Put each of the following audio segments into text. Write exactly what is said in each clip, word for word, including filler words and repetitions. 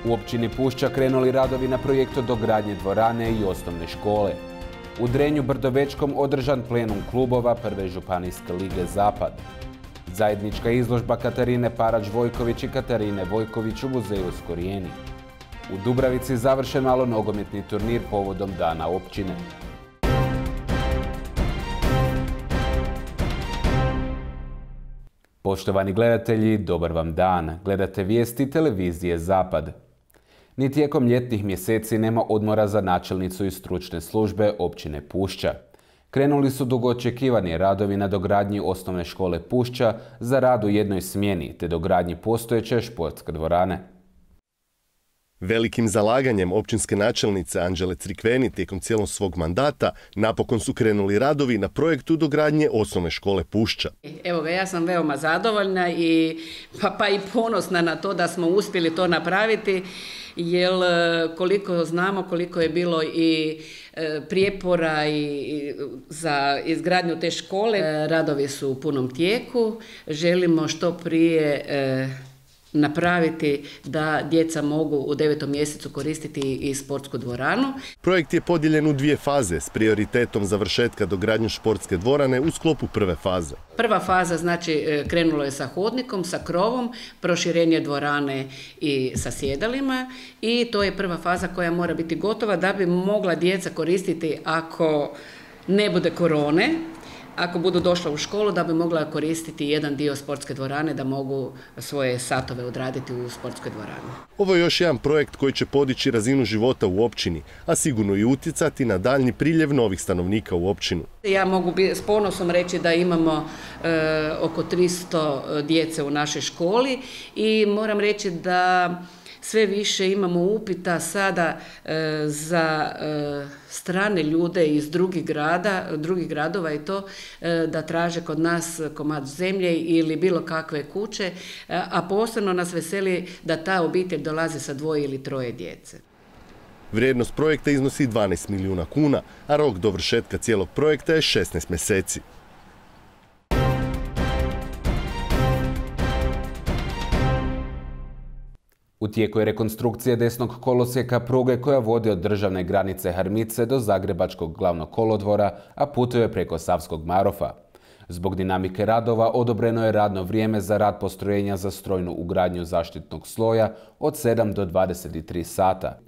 U općini Pušća krenuli radovi na projektu dogradnje dvorane i osnovne škole. U Drenju Brdovečkom održan plenum klubova Prve županijske lige Zapad. Zajednička izložba Katarine Parač-Vojković i Katarine Vojković u muzeju Skorijeni. U Dubravici završen malo nogometni turnir povodom dana općine. Poštovani gledatelji, dobar vam dan. Gledate vijesti televizije Zapad. Ni tijekom ljetnih mjeseci nema odmora za načelnicu i stručne službe općine Pušća. Krenuli su dugo očekivani radovi na dogradnji osnovne škole Pušća za rad u jednoj smjeni te dogradnji postojeće športske dvorane. Velikim zalaganjem općinske načelnice Anđele Crikveni tijekom cijelog svog mandata napokon su krenuli radovi na projektu dogradnje osnovne škole Pušća. Evo ga, ja sam veoma zadovoljna i pa, pa i ponosna na to da smo uspjeli to napraviti, jer koliko znamo koliko je bilo i prijepora i za izgradnju te škole. Radovi su u punom tijeku, želimo što prije napraviti da djeca mogu u devetom mjesecu koristiti i sportsku dvoranu. Projekt je podijeljen u dvije faze s prioritetom završetka dogradnje športske dvorane u sklopu prve faze. Prva faza znači krenulo je sa hodnikom, sa krovom, proširenje dvorane i sa sjedalima i to je prva faza koja mora biti gotova da bi mogla djeca koristiti ako ne bude korone. Ako budu došla u školu, da bi mogla koristiti jedan dio sportske dvorane, da mogu svoje satove odraditi u sportskoj dvorani. Ovo je još jedan projekt koji će podići razinu života u općini, a sigurno i utjecati na daljnji priljev novih stanovnika u općinu. Ja mogu s ponosom reći da imamo e, oko tristo djece u našoj školi i moram reći da sve više imamo upita sada e, za e, strane ljude iz drugih grada, drugih gradova i to e, da traže kod nas komad zemlje ili bilo kakve kuće, e, a posebno nas veseli da ta obitelj dolazi sa dvoje ili troje djece. Vrijednost projekta iznosi dvanaest milijuna kuna, a rok dovršetka cijelog projekta je šesnaest mjeseci. U tijeku je rekonstrukcija desnog kolosijeka pruge koja vodi od državne granice Harmice do Zagrebačkog glavnog kolodvora, a putuje preko Savskog Marofa. Zbog dinamike radova odobreno je radno vrijeme za rad postrojenja za strojnu ugradnju zaštitnog sloja od sedam do dvadeset tri sata.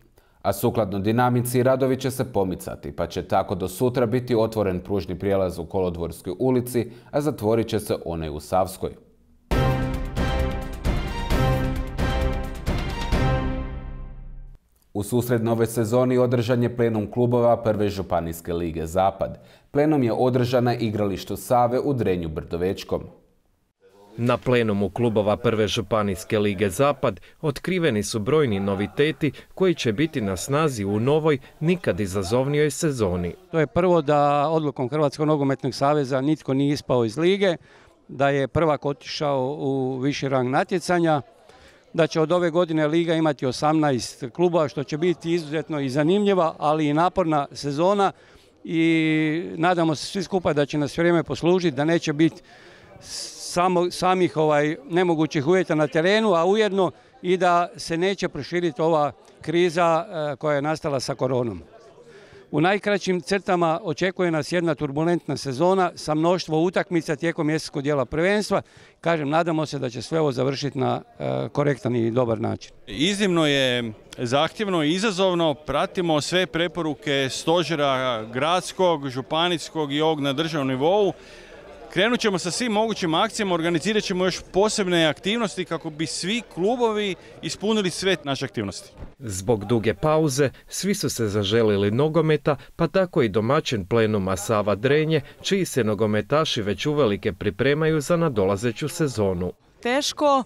A sukladno dinamici radovi će se pomicati, pa će tako do sutra biti otvoren pružni prijelaz u Kolodvorskoj ulici, a zatvorit će se onaj u Savskoj. U susret nove sezoni održan je plenum klubova Prve županijske lige Zapad. Plenum je održan na igralištu Save u Drenju Brdovečkom. Na plenumu klubova Prve županijske lige Zapad otkriveni su brojni noviteti koji će biti na snazi u novoj, nikad izazovnijoj sezoni. To je prvo da odlukom Hrvatskog nogometnog saveza nitko nije ispao iz lige, da je prvak otišao u viši rang natjecanja, da će od ove godine liga imati osamnaest klubova, što će biti izuzetno i zanimljiva, ali i naporna sezona i nadamo se svi skupa da će nas vrijeme poslužiti, da neće biti samo, samih ovaj, nemogućih uvjeta na terenu, a ujedno i da se neće proširiti ova kriza eh, koja je nastala sa koronom. U najkraćim crtama očekuje nas jedna turbulentna sezona sa mnoštvo utakmica tijekom mjesečnog dijela prvenstva. Kažem, nadamo se da će sve ovo završiti na e, korektan i dobar način. Iznimno je zahtjevno i izazovno. Pratimo sve preporuke stožera gradskog, županijskog i ovog na državnom nivou. Krenut ćemo sa svim mogućim akcijama, organizirat ćemo još posebne aktivnosti kako bi svi klubovi ispunili sve naše aktivnosti. Zbog duge pauze svi su se zaželili nogometa, pa tako i domaćin plenuma Sava Drenje, čiji se nogometaši već uvelike pripremaju za nadolazeću sezonu. Teško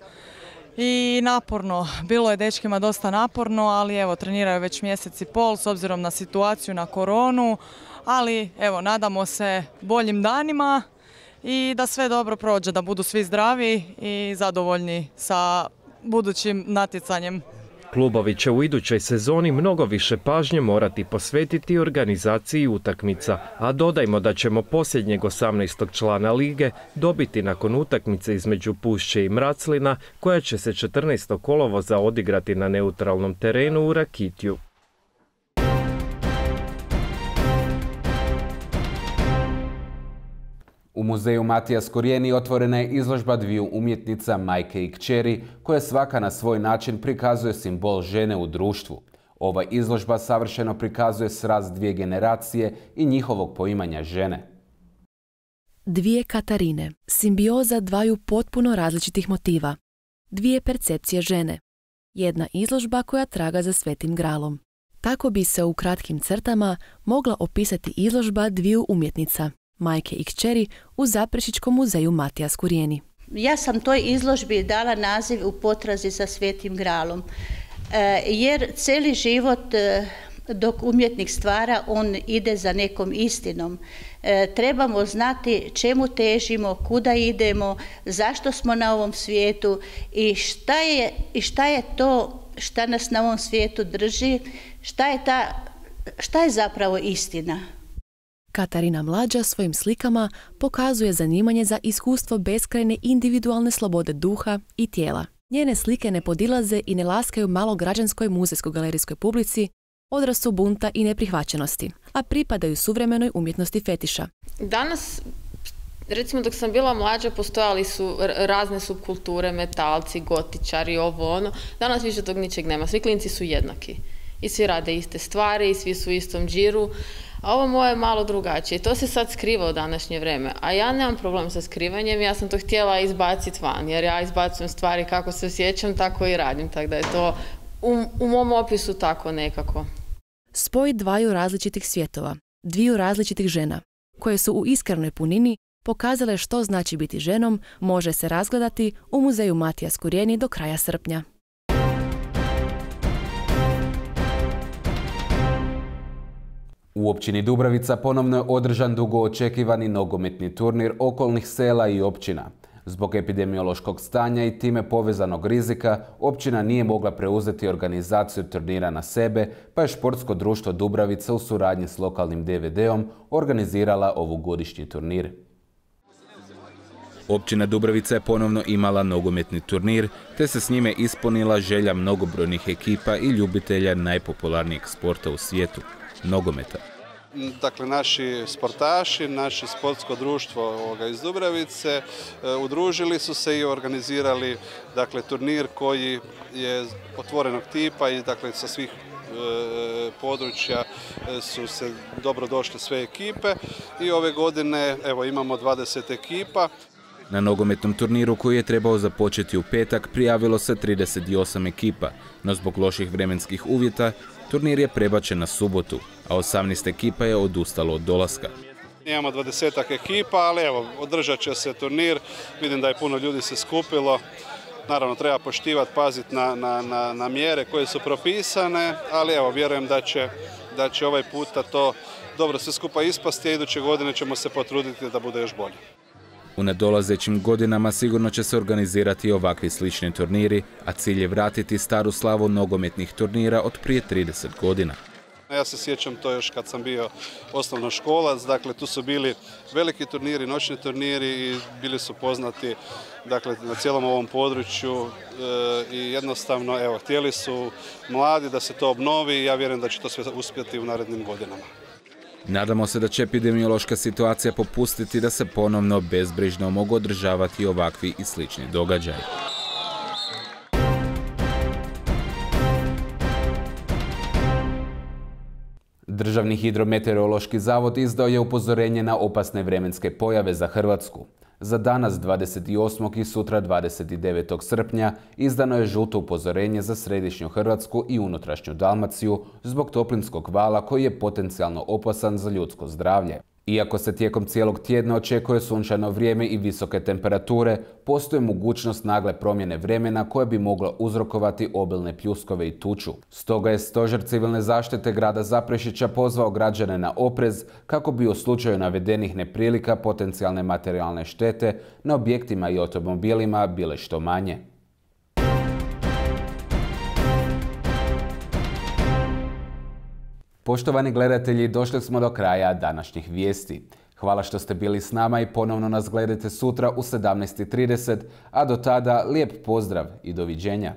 i naporno. Bilo je dečkima dosta naporno, ali evo treniraju već mjesec i pol s obzirom na situaciju, na koronu, ali evo nadamo se boljim danima i da sve dobro prođe, da budu svi zdravi i zadovoljni sa budućim natjecanjem. Klubovi će u idućoj sezoni mnogo više pažnje morati posvetiti organizaciji utakmica, a dodajmo da ćemo posljednjeg osamnaestog člana lige dobiti nakon utakmice između Pušće i Mraclina, koja će se četrnaestog kolovoza odigrati na neutralnom terenu u Rakitju. U muzeju Matija Skorjeni otvorena je izložba dviju umjetnica, majke i kćeri, koja svaka na svoj način prikazuje simbol žene u društvu. Ova izložba savršeno prikazuje sraz dvije generacije i njihovog poimanja žene. Dvije Katarine, simbioza dvaju potpuno različitih motiva. Dvije percepcije žene. Jedna izložba koja traga za Svetim gralom. Tako bi se u kratkim crtama mogla opisati izložba dviju umjetnica, majke i kćeri, u Zaprešićkom muzeju Matija Skorjeni. Ja sam toj izložbi dala naziv U potrazi za Svetim gralom, jer cijeli život dok umjetnik stvara, on ide za nekom istinom. Trebamo znati čemu težimo, kuda idemo, zašto smo na ovom svijetu i šta je, i šta je to šta nas na ovom svijetu drži, šta je, ta, šta je zapravo istina. Katarina Mlađa svojim slikama pokazuje zanimanje za iskustvo beskrajne individualne slobode duha i tijela. Njene slike ne podilaze i ne laskaju malograđanskoj muzejsko-galerijskoj publici, odrasu bunta i neprihvaćenosti, a pripadaju suvremenoj umjetnosti fetiša. Danas, recimo dok sam bila mlađa, postojali su razne subkulture, metalci, gotičari, ovo ono. Danas više tog ničeg nema. Svi klinci su jednaki. I svi rade iste stvari, i svi su u istom džiru. A ovo moje je malo drugačije. To se sad skriva u današnje vrijeme. A ja nemam problem sa skrivanjem, ja sam to htjela izbaciti van. Jer ja izbacujem stvari kako se osjećam, tako i radim. Tako da je to u, u mom opisu tako nekako. Spoj dvaju različitih svjetova, dviju različitih žena, koje su u iskrenoj punini pokazale što znači biti ženom, može se razgledati u muzeju Matija Skorjeni do kraja srpnja. U općini Dubravica ponovno je održan dugo očekivani nogometni turnir okolnih sela i općina. Zbog epidemiološkog stanja i time povezanog rizika, općina nije mogla preuzeti organizaciju turnira na sebe, pa je Športsko društvo Dubravica u suradnji s lokalnim D V D-om organizirala ovogodišnji turnir. Općina Dubravica je ponovno imala nogometni turnir, te se s njime ispunila želja mnogobrojnih ekipa i ljubitelja najpopularnijeg sporta u svijetu – nogometa. Dakle, naši sportaši, naše sportsko društvo iz Dubravice udružili su se i organizirali dakle, turnir koji je otvorenog tipa i dakle, sa svih područja su se dobro došle sve ekipe i ove godine evo, imamo dvadeset ekipa. Na nogometnom turniru koji je trebao započeti u petak prijavilo se trideset osam ekipa, no zbog loših vremenskih uvjeta turnir je prebačen na subotu, a osamnaest ekipa je odustalo od dolaska. Imamo dvadesetak ekipa, ali evo, održat će se turnir. Vidim da je puno ljudi se skupilo. Naravno, treba poštivati, paziti na, na, na, na mjere koje su propisane, ali evo, vjerujem da će, da će ovaj puta to dobro sve skupa ispasti, a iduće godine ćemo se potruditi da bude još bolje. U nadolazećim godinama sigurno će se organizirati ovakvi slični turniri, a cilj je vratiti staru slavu nogometnih turnira od prije trideset godina. Ja se sjećam to još kad sam bio osnovnoškolac, dakle tu su bili veliki turniri, noćni turniri i bili su poznati dakle, na cijelom ovom području e, i jednostavno evo, htjeli su mladi da se to obnovi i ja vjerujem da će to sve uspjeti u narednim godinama. Nadamo se da će epidemiološka situacija popustiti da se ponovno bezbrižno mogu održavati ovakvi i slični događaji. Državni hidrometeorološki zavod izdao je upozorenje na opasne vremenske pojave za Hrvatsku. Za danas dvadeset osmog i sutra dvadeset devetog srpnja izdano je žuto upozorenje za središnju Hrvatsku i unutrašnju Dalmaciju zbog toplinskog vala koji je potencijalno opasan za ljudsko zdravlje. Iako se tijekom cijelog tjedna očekuje sunčano vrijeme i visoke temperature, postoji mogućnost nagle promjene vremena koja bi mogla uzrokovati obilne pljuskove i tuču. Stoga je Stožer civilne zaštite grada Zaprešića pozvao građane na oprez kako bi u slučaju navedenih neprilika potencijalne materijalne štete na objektima i automobilima bile što manje. Poštovani gledatelji, došli smo do kraja današnjih vijesti. Hvala što ste bili s nama i ponovno nas gledajte sutra u sedamnaest i trideset, a do tada lijep pozdrav i doviđenja.